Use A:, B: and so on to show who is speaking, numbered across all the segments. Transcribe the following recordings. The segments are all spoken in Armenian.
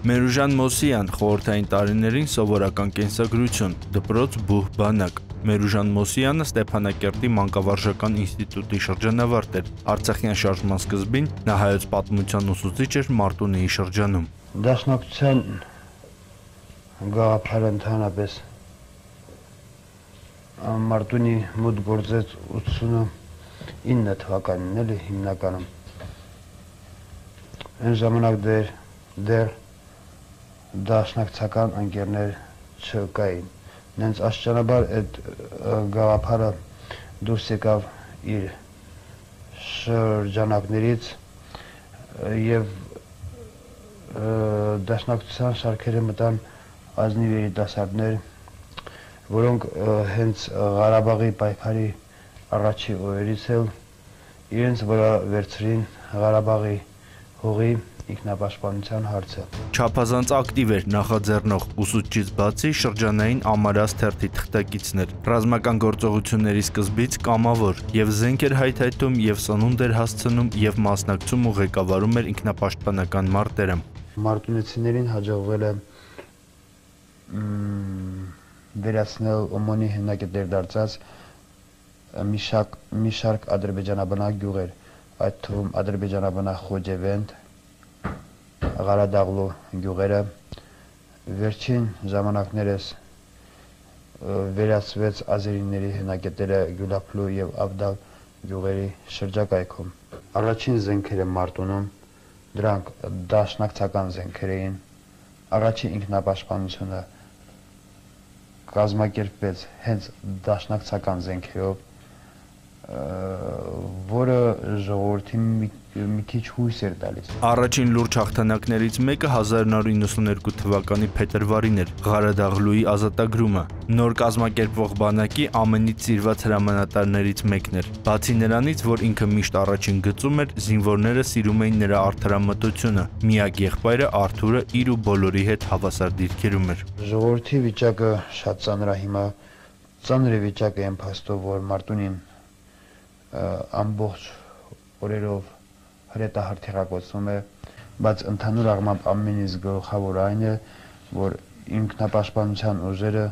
A: Մերուժան Մոսիյան խորհրդային տարիներին սովորական կենսագրություն, դպրոց բուհ բանակ։ Մերուժան Մոսյանը Ստեփանակերտի մանկավարժական ինստիտուտի շրջանավարտ էր։ Արցախյան շարժման սկզբին նա հայոց պատմության ուսուցիչ էր Մարտունիի շրջանում։
B: Դաշնակցության գաղափարը ընդհանրապես Մարտունի մոտ գործեց 89 թվականին էլի հիմնականում։ Այն ժամանակ դեռ դաշնակցական ընկերներ չկային։ Նենց աստիճանաբար այդ գաղափարը դուրս եկավ իր շրջանակներից եւ դաշնակցության շարքերը մտան ազնիվ երիտասարդներ, որոնք հենց Ղարաբաղի պայքարի առաջի օրերից էլ իրենց վրա վերցրին Ղարաբաղի հողի ինքնապաշտպանության հարցը։
A: Չափազանց ակտիվ էր նախաձեռնող ուսուցչից բացի շրջանային Ամարաս թերթի թղթակիցներ։ Ռազմական գործողությունների սկզբից կամավոր եւ զենք էր հայթայթում եւ սնունդ էր հասցնում եւ մասնակցում ու ղեկավարում էր ինքնապաշտպանական մարտերը։
B: Մարտունեցիներին հաջողվել է վերացնել ՕՄՕՆ-ի հիմնադիր դարձած մի շարք ադրբեջանաբնակ գյուղեր, այդ թվում ադրբեջանաբնակ Խոջևենդ, Ղարադաղլու գյուղերը, վերջին ժամանակներս վերացվեց ազերիների հենակետերը Գյուլափլու եւ Ավդալ գյուղերի շրջակայքում։ Առաջին զենքերը Մարտունում, դրանք դաշնակցական զենքեր էին։ Առաջին ինքնապաշտպանությունը կազմակերպվեց հենց դաշնակցական զենքերով, որը ժողովրդին մի քիչ հույս էր տալիս։
A: Առաջին լուրջ հաղթանակներից մեկը 1992 թվականի փետրվարին էր Ղարադաղլուի ազատագրումը։ Նոր կազմակերպվող բանակի ամենից սիրված հրամանատարներից մեկն էր։ Բացի նրանից, որ ինքը միշտ առաջին գծում էր, զինվորները սիրում էին նրա արդարամտությունը։ Միակ եղբայրը Արթուրը իր ու բոլորի հետ հավասար դիրքերում էր։
B: Ժողովրդի վիճակը շատ ծանր է հիմա։ Ծանր է վիճակը այն փաստով, որ Մարտունին ամբողջ օրերով հրետահարթիռակոծվում է, բայց ընդհանուր առմամբ ամենից գլխավոր այն է, որ ինքնապաշտպանության ուժերը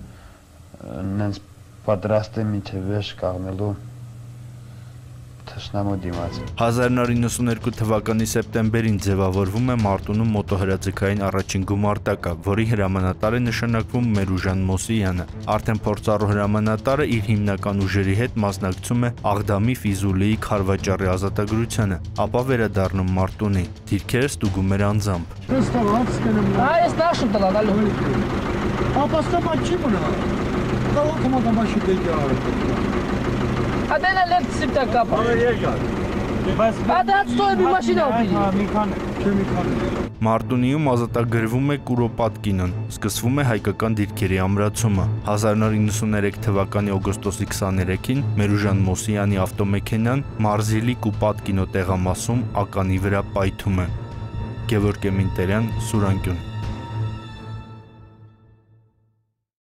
B: նենց պատրաստ է մինչև վերջ կանգնելու թշնամու դիմաց։
A: 1992 թվականի սեպտեմբերին ձևավորվում է Մարտունում մոտոհրաձգային առաջին գումարտակը, որի հրամանատար է նշանակվում Մերուժան Մոսյանը։ Արդեն փորձառու հրամանատարը իր հիմնական ուժերի հետ մասնակցում է Աղդամի Ֆիզուլիի Խարվաճառի ազատագրությանը, ապա վերադառնում Մարտունի։ Դիրքերը ստուգում էր անձամբ։
C: Adena let sipta kapa. Ada stoy bir maşina
A: Մարտունիում ազատագրվում է Կուրոպատկինն, սկսվում է հայկական դիրքերի ամրացումը։ 1993 թվականի օգոստոսի 23-ին Մերուժան Մոսյանի ավտոմեքենան Մարզիլի Կուպատկինո տեղամասում ականի վրա պայթում է։ Գևորգ Էմինտերյան, Սուրանկյուն։